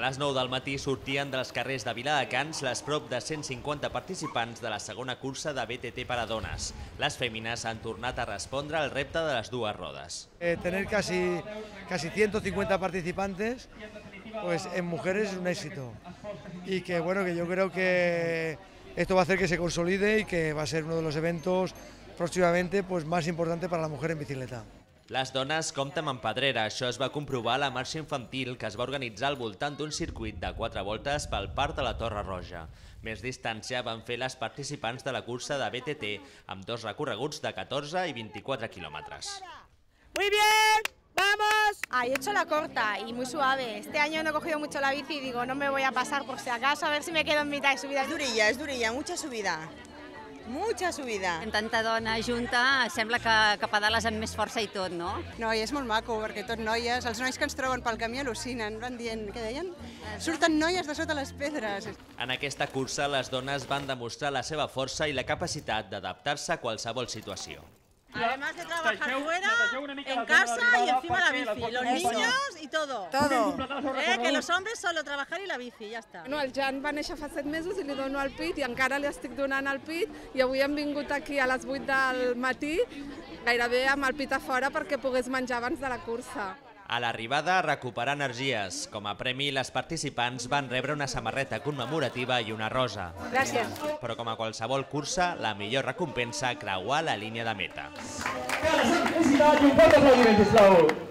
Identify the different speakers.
Speaker 1: les 9 del matí sortien dels carrers de Viladecans les prop de 150 participants de la segona cursa de BTT per a dones. Les fèmines han tornat a respondre al repte de les dues rodes.
Speaker 2: Tener casi 150 participantes pues en mujeres es un éxito. Y que bueno, que yo creo que esto va a hacer que se consolide y que va a ser uno de los eventos próximamente pues más importante para la mujer en bicicleta.
Speaker 1: Les dones compten amb pedrera. Això es va comprovar a la marxa infantil que es va organitzar al voltant d'un circuit de 4 voltes pel Parc de la Torre Roja. Més distància van fer les participants de la cursa de BTT amb 2 recorreguts de 14 i 24 quilòmetres.
Speaker 3: Muy bien, vamos. He hecho la corta y muy suave. Este año no he cogido mucho la bici y digo, no me voy a pasar por si acaso, a ver si me quedo en mitad de subida.
Speaker 4: Es durilla, mucha subida. Mucha subida.
Speaker 5: En tanta dona junta sembla que pedales amb més força i tot, no?
Speaker 4: No, i és molt maco, perquè tot noies, els nois que ens troben pel camí al·lucinen, van dient, què deien? Surten noies de sota les pedres.
Speaker 1: En aquesta cursa, les dones van demostrar la seva força i la capacitat d'adaptar-se a qualsevol situació.
Speaker 6: Además de trabajar fuera, en casa y encima la bici, los niños y todo. Que los hombres solo trabajar y la bici, ja està.
Speaker 7: El Jan va néixer fa 7 mesos i li dono el pit i encara li estic donant el pit i avui hem vingut aquí a les 8 del matí gairebé amb el pit a fora perquè pogués menjar abans de la cursa.
Speaker 1: A l'arribada, recuperar energies. Com a premi, les participants van rebre una samarreta commemorativa i una rosa.
Speaker 3: Gràcies.
Speaker 1: Però com a qualsevol cursa, la millor recompensa creuar la línia de meta.
Speaker 8: Un fort aplaudiment, sisplau.